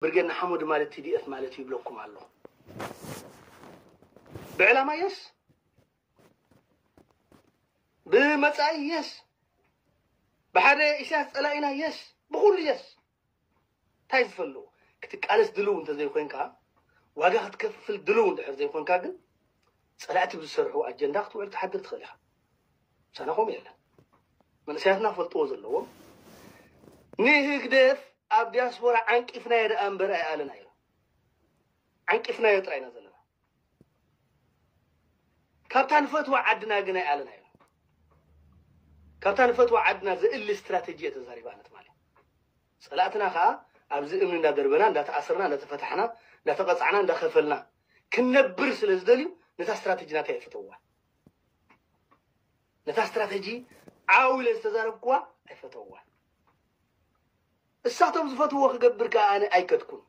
ብርጌድ ንሓመዱ ማለት ቲ ዲ ኤፍ ማለት እዩ ይብለኩም ኣሎ። ብዕላማ የስ፣ ብመጻኢ የስ፣ ብሓደ ኢሳያስ ጸላኢና የስ፣ ብኹሉ የስ። እንታይ ዝፈልዎ ክትቃለስ ድልው እንተዘይኮንካ፣ ዋጋ ክትከፍል ድልው እንድሕር ዘይኮንካ ግን ጸላእቲ ብዝሰርሑ ኣጀንዳ ክትውዕል ትሓድር ትኽእል ኢኻ። ምሳና ከምኡ የለን። መንእሰያትና ክፈልጥዎ ዘለዎም ንህግደፍ ኣብ ዲያስፖራ ዓንቂፍናዮ ደኣ እምበር ኣይኣለናዮ። ዓንቂፍናዮ ጥራይ ኢና ዘለና። ካብታ ንፈትዋ ዓድና ግን ኣይኣለናዮ። ካብታ ንፈትዋ ዓድና ዘእሊ ስትራተጂ እየ ተዛሪባ ኣነ ትማሊ። ጸላእትና ከኣ ኣብዚ እምኒ እንዳደርበና፣ እንዳተኣሰርና፣ እንዳተፈታሕና፣ እንዳተቐጻዕና፣ እንዳኸፈልና ክንነብር ስለ ዝደልዩ ነታ ስትራተጂ ናተይ ኣይፈተውዋ። ነታ ስትራተጂ ዓው ኢለ ዝተዛረብኩዋ ኣይፈተውዋ። እሳቶም ዝፈትዎ ክገብር ከኣ ኣነ ኣይከድኩን።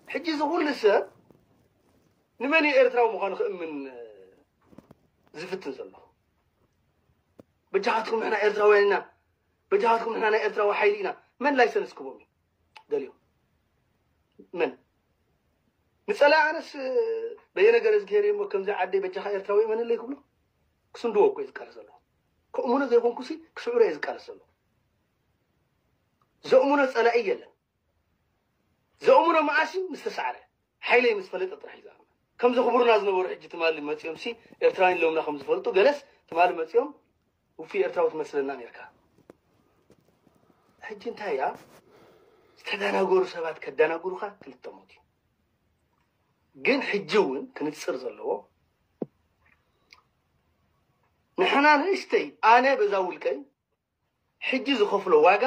ሕጂ እዚ ኩሉ ሰብ ንመን እዩ ኤርትራዊ ምዃኑ ክእምን ዝፍትን ዘሎ? በጃኻትኩም ንሕና ኤርትራውያን ኢና፣ በጃኻትኩም ንሕና ናይ ኤርትራዊ ሓይሊ ኢና። መን ላይሰንስ ክቦም እዩ ደልዮም? መን ንጸላእ ኣነስ በየነ ገረዝግሄር እሞ ከምዚ ዓደይ በጃኻ ኤርትራዊ እመነለይ ክብሎ ክስንድዎ እኮ እዩ ዝቃለስ ዘሎ። ከእምኖ ዘይኮንኩሲ ክስዕሮ እየ ዝቃለስ ዘሎ። ዘእምኖ ጸላኢ የለን። ዘእምኖ መኣሲ ምስ ተሳዕረ፣ ሓይለይ ምስ ፈለጠ ጥራሕ እዩ ዝኣምን። ከምዚ ክቡርና ዝነበሩ ሕጂ ትማሊ መጺኦም ሲ ኤርትራውያን ኢሎምና ከም ዝፈልጡ ገለስ ትማሊ መጺኦም ውፉይ ኤርትራዊ ትመስለና ኔርካ። ሕጂ እንታይ እያ? ዝተደናገሩ ሰባት ከደናግሩኻ ክልተ ሞት እዩ። ግን ሕጂ እውን ክንጽር ዘለዎ ንሕና ንእሽተይ ኣነ በዛ ውልቀይ ሕጂ ዝኸፍሎ ዋጋ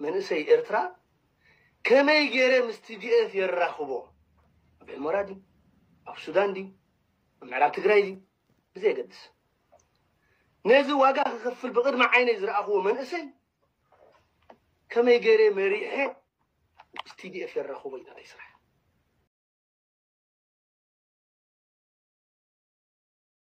መንእሰይ ኤርትራ ከመይ ገይረ ምስ ቲ ዲ ኤፍ የራኽቦ? ኣብ ሑመራ ድዩ? ኣብ ሱዳን ድዩ? ኣብ ምዕራብ ትግራይ ድዩ? ብዘየገድስ ነዚ ዋጋ ክኸፍል ብቕድሚ ዓይነይ ዝረኣኽዎ መንእሰይ ከመይ ገይረ መሪሐ ምስ ቲ ዲ ኤፍ የራኽቦ እዩ ናተይ ስራሕ።